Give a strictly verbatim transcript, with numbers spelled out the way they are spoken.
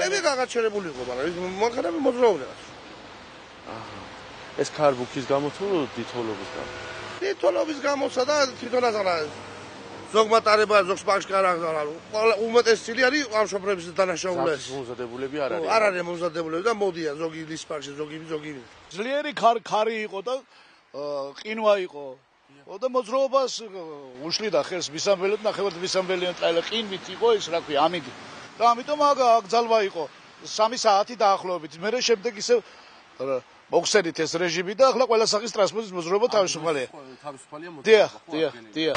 მანქანები გაგაჩერებული იყო, მაგრამ მანქანები მოძრაობდნენ. აჰა. ეს ქარბუქის გამო თუ დითოლობის გამო? დითოლობის გამოსა და თვითონაც არა. ზოგმა ტარება, ზოგს ბანკში არ აღზარალო. უმეტესი წილი არის ამ შოფრების დანაშაულებს. მომზადებულები არ არის. არ არის მომზადებულები და მოდიან ზოგი ლის ბანკში, ზოგი ზოგი. ძლიერი ქარი იყო და ყინვა იყო. და მოძრაობას უშლიდა ხელს მისამბელეთ, ნახევარ მისამბელიან წაილა ყინვით იყო ის, რა ქვია, ამინდი. და ამიტომ აქ ძალვა იყო სამი საათი დაახლოებით. მერე შემდეგ ისე მოხსენით ეს რეჟიმი და ახლა ყველა სახის ტრანსპორტის მოძრაობა თავისუფალია. თავისუფალია მოძრაობა. დიახ, დიახ, დიახ.